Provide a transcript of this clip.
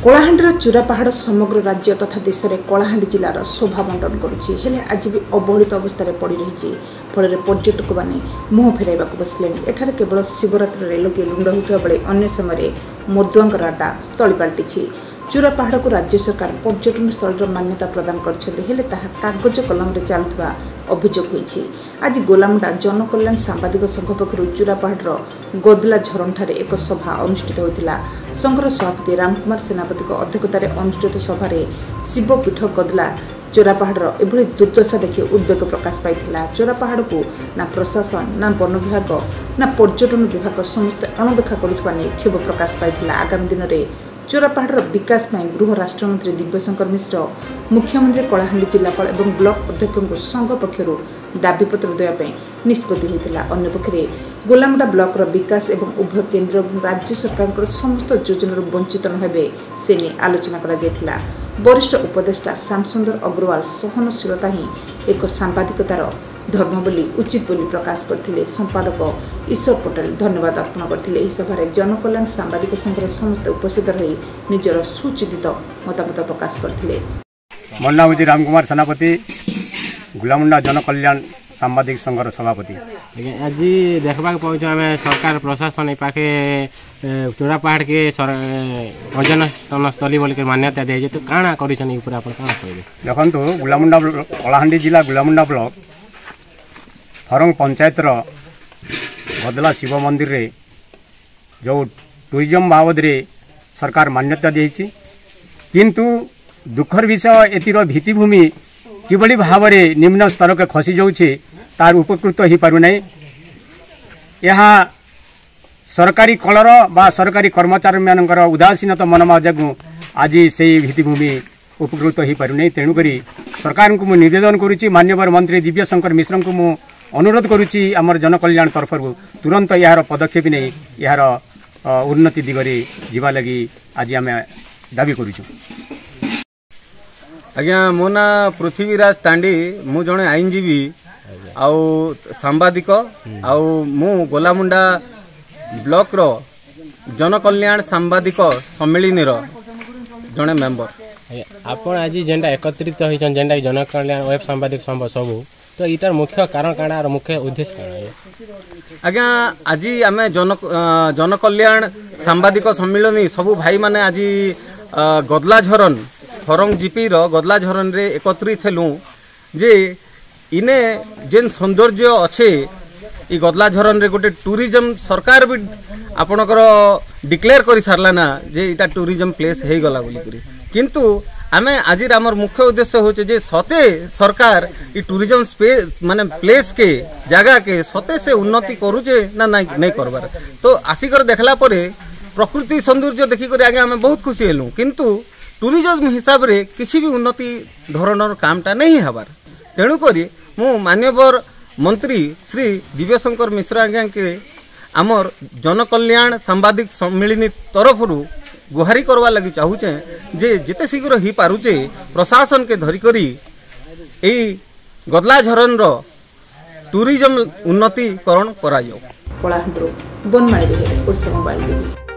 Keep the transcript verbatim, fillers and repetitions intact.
କଳାହାଣ୍ଡିର ଚୂରା ପାହାଡ଼ ସମଗ୍ର ରାଜ୍ୟ ତଥା ଦେଶରେ କଳାହାଣ୍ଡି ଜିଲ୍ଲାର ଶୋଭା ବଣ୍ଟନ କରୁଛି। ହେଲେ ଆଜି ବି ଅବହେଳିତ ଅବସ୍ଥାରେ ପଡ଼ି ରହିଛି। ଫଳରେ ପର୍ଯ୍ୟଟକମାନେ ମୁହଁ ଫେରାଇବାକୁ ବସିଲେଣି। ଏଠାରେ କେବଳ ଶିବରାତ୍ରିରେ ଲୋକେ ରୁଣ୍ଡ ହେଉଥିବା ବେଳେ ଅନ୍ୟ ସମୟରେ ମଦୁଆଙ୍କର ଆଡ୍ଡା ସ୍ଥଳୀ ପାଲଟିଛି। ଚୂରା ପାହାଡ଼କୁ ରାଜ୍ୟ ସରକାର ପର୍ଯ୍ୟଟନ ସ୍ଥଳୀର ମାନ୍ୟତା ପ୍ରଦାନ କରିଛନ୍ତି, ହେଲେ ତାହା କାଗଜ କଲମରେ ଚାଲୁଥିବା ଅଭିଯୋଗ ହୋଇଛି। ଆଜି ଗୋଲାମୁଣ୍ଡା ଜନକଲ୍ୟାଣ ସାମ୍ବାଦିକ ସଂଘ ପକ୍ଷରୁ ଚୂରା ପାହାଡ଼ର ଗଦଲା ଝରଣଠାରେ ଏକ ସଭା ଅନୁଷ୍ଠିତ ହୋଇଥିଲା। ସଂଘର ସଭାପତି ରାମକୁମାର ସେନାପତିଙ୍କ ଅଧ୍ୟକ୍ଷତାରେ ଅନୁଷ୍ଠିତ ସଭାରେ ଶିବପୀଠ ଗଦଲା ଚୋରା ପାହାଡ଼ର ଏଭଳି ଦୁର୍ଦ୍ଦଶା ଦେଖି ଉଦ୍ବେଗ ପ୍ରକାଶ ପାଇଥିଲା। ଚୋରା ପାହାଡ଼କୁ ନା ପ୍ରଶାସନ, ନା ବନ ବିଭାଗ, ନା ପର୍ଯ୍ୟଟନ ବିଭାଗ ସମସ୍ତେ ଅଣଦେଖା କରୁଥିବା ନେଇ କ୍ଷୋଭ ପ୍ରକାଶ ପାଇଥିଲା। ଆଗାମୀ ଦିନରେ ଚୋରା ପାହାଡ଼ର ବିକାଶ ପାଇଁ ଗୃହ ରାଷ୍ଟ୍ରମନ୍ତ୍ରୀ ଦିବ୍ୟଶଙ୍କର ମିଶ୍ର, ମୁଖ୍ୟମନ୍ତ୍ରୀ, କଳାହାଣ୍ଡି ଜିଲ୍ଲାପାଳ ଏବଂ ବ୍ଲକ ଅଧ୍ୟକ୍ଷଙ୍କୁ ସଂଘ ପକ୍ଷରୁ ଦାବିପତ୍ର ଦେବା ପାଇଁ ନିଷ୍ପତ୍ତି ହୋଇଥିଲା। ଅନ୍ୟପକ୍ଷରେ ଗୋଲାମୁଣ୍ଡା ବ୍ଲକର ବିକାଶ ଏବଂ ଉଭୟ କେନ୍ଦ୍ର ଏବଂ ରାଜ୍ୟ ସରକାରଙ୍କର ସମସ୍ତ ଯୋଜନାରୁ ବଞ୍ଚିତ ନ ହେବେ ସେ ନେଇ ଆଲୋଚନା କରାଯାଇଥିଲା। ବରିଷ୍ଠ ଉପଦେଷ୍ଟା ଶ୍ୟାମସୁନ୍ଦର ଅଗ୍ରୱାଲ ସହନଶୀଳତା ହିଁ ଏକ ସାମ୍ବାଦିକତାର ଧର୍ମ ବୋଲି ଉଚିତ ବୋଲି ପ୍ରକାଶ କରିଥିଲେ। ସମ୍ପାଦକ ଈଶ୍ୱର ପଟେଲ ଧନ୍ୟବାଦ ଅର୍ପଣ କରିଥିଲେ। ଏହି ସଭାରେ ଜନକଲ୍ୟାଣ ସାମ୍ବାଦିକ ସଂଘର ସମସ୍ତେ ଉପସ୍ଥିତ ରହି ନିଜର ସୁଚିନ୍ତିତ ମତାମତ ପ୍ରକାଶ କରିଥିଲେ। ମୋ ନାଁ ହେଉଛି ରାମକୁମାର ସେନାପତି, ଗୁଲାମୁଣ୍ଡା ଜନକଲ୍ୟାଣ ସାମ୍ବାଦିକ ସଂଘର ସଭାପତି। ଆଜ୍ଞା, ଆଜି ଦେଖିବାକୁ ପାଉଛୁ ଆମେ ସରକାର ପ୍ରଶାସନ ଏ ପାଖେ ଚୋରା ପାହାଡ଼କେ ପର୍ଯ୍ୟଟନ ସ୍ଥଳୀ ବୋଲିକି ମାନ୍ୟତା ଦିଆଯାଇଛି, ତ କାଣା କରିଛନ୍, ଏ ଉପରେ ଆପଣ କାଣା କହିବେ? ଦେଖନ୍ତୁ, ଗୁଲାମୁଣ୍ଡା କଳାହାଣ୍ଡି ଜିଲ୍ଲା ଗୁଲାମୁଣ୍ଡା ବ୍ଲକ ଫରଙ୍ଗ ପଞ୍ଚାୟତର ଗଦଲା ଶିବ ମନ୍ଦିରରେ ଯେଉଁ ଟୁରିଜମ୍ ବାବଦରେ ସରକାର ମାନ୍ୟତା ଦେଇଛି, କିନ୍ତୁ ଦୁଃଖର ବିଷୟ ଏଥିର ଭିତ୍ତିଭୂମି କିଭଳି ଭାବରେ ନିମ୍ନ ସ୍ତରକୁ ଖସି ଯାଉଛି, ତାର ଉପକୃତ ହୋଇପାରୁନାହିଁ। ଏହା ସରକାରୀ କଳର ବା ସରକାରୀ କର୍ମଚାରୀମାନଙ୍କର ଉଦାସୀନତା ମନୋଭାବ ଯୋଗୁଁ ଆଜି ସେଇ ଭିତ୍ତିଭୂମି ଉପକୃତ ହୋଇପାରୁନାହିଁ। ତେଣୁକରି ସରକାରଙ୍କୁ ମୁଁ ନିବେଦନ କରୁଛି, ମାନ୍ୟବର ମନ୍ତ୍ରୀ ଦିବ୍ୟଶଙ୍କର ମିଶ୍ରଙ୍କୁ ମୁଁ ଅନୁରୋଧ କରୁଛି, ଆମର ଜନକଲ୍ୟାଣ ତରଫରୁ ତୁରନ୍ତ ଏହାର ପଦକ୍ଷେପ ନେଇ ଏହାର ଉନ୍ନତି ଦିଗରେ ଯିବା ଲାଗି ଆଜି ଆମେ ଦାବି କରୁଛୁ। ଆଜ୍ଞା, ମୋ ନାଁ ପୃଥ୍ୱୀରାଜ ତାଣ୍ଡି। ମୁଁ ଜଣେ ଆଇନଜୀବୀ ଆଉ ସାମ୍ବାଦିକ, ଆଉ ମୁଁ ଗୋଲାମୁଣ୍ଡା ବ୍ଲକର ଜନକଲ୍ୟାଣ ସାମ୍ବାଦିକ ସମ୍ମିଳନୀର ଜଣେ ମେମ୍ବର। ଆପଣ ଆଜି ଯେନ୍ଟା ଏକତ୍ରିତ ହେଇଛନ୍, ଯେନ୍ଟା ଜନକଲ୍ୟାଣ ୱେବ୍ ସାମ୍ବାଦିକ ସଂଘ ସବୁ, ତ ଏଇଟାର ମୁଖ୍ୟ କାରଣ କାଣା ଆର ମୁଖ୍ୟ ଉଦ୍ଦେଶ୍ୟ କାଣା? ଆଜ୍ଞା, ଆଜି ଆମେ ଜନ ଜନକଲ୍ୟାଣ ସାମ୍ବାଦିକ ସମ୍ମିଳନୀ ସବୁ ଭାଇମାନେ ଆଜି ଗଦଲାଝରନ ଫରଙ୍ଗ ଜିପିର ଗଦଲାଝରନରେ ଏକତ୍ରିତ ହେଲୁ ଯେ ଇନେ ଯେନ୍ ସୌନ୍ଦର୍ଯ୍ୟ ଅଛେ, ଇ ଗଦଲାଝରନରେ ଗୋଟେ ଟୁରିଜମ୍ ସରକାର ବି ଆପଣଙ୍କର ଡିକ୍ଲେୟାର କରି ସାରିଲା ନା ଯେ ଏଇଟା ଟୁରିଜମ୍ ପ୍ଲେସ୍ ହେଇଗଲା ବୋଲିକରି। କିନ୍ତୁ ଆମେ ଆଜିର ଆମର ମୁଖ୍ୟ ଉଦ୍ଦେଶ୍ୟ ହେଉଛି ଯେ ସତେ ସରକାର ଇ ଟୁରିଜମ୍ ସ୍ପେ ମାନେ ପ୍ଲେସ୍କେ, ଜାଗାକେ ସତେ ସେ ଉନ୍ନତି କରୁଛେ ନା ନାଇଁ ନାଇଁ କରବାର। ତ ଆସିକରି ଦେଖିଲା ପରେ ପ୍ରକୃତି ସୌନ୍ଦର୍ଯ୍ୟ ଦେଖିକରି ଆଜ୍ଞା ଆମେ ବହୁତ ଖୁସି ହେଲୁ, କିନ୍ତୁ ଟୁରିଜମ୍ ହିସାବରେ କିଛି ବି ଉନ୍ନତି ଧରଣର କାମଟା ନେଇ ହେବାର। ତେଣୁକରି ମୁଁ ମାନ୍ୟବର ମନ୍ତ୍ରୀ ଶ୍ରୀ ଦିବ୍ୟଶଙ୍କର ମିଶ୍ର ଆଜ୍ଞାକେ ଆମର ଜନକଲ୍ୟାଣ ସାମ୍ବାଦିକ ସମ୍ମିଳନୀ ତରଫରୁ ଗୁହାରି କରବା ଲାଗି ଚାହୁଁଛେ ଯେ ଯେତେ ଶୀଘ୍ର ହେଇପାରୁଛେ ପ୍ରଶାସନକେ ଧରିକରି ଏଇ ଗଦଲାଝରନର ଟୁରିଜମ୍ ଉନ୍ନତିକରଣ କରାଯାଉ। କଳାହାଣ୍ଡିରୁ ବନମାଳୀ ବେହେରା, ଓଡ଼ିଶା ମୋବାଇଲ ଟିଭି।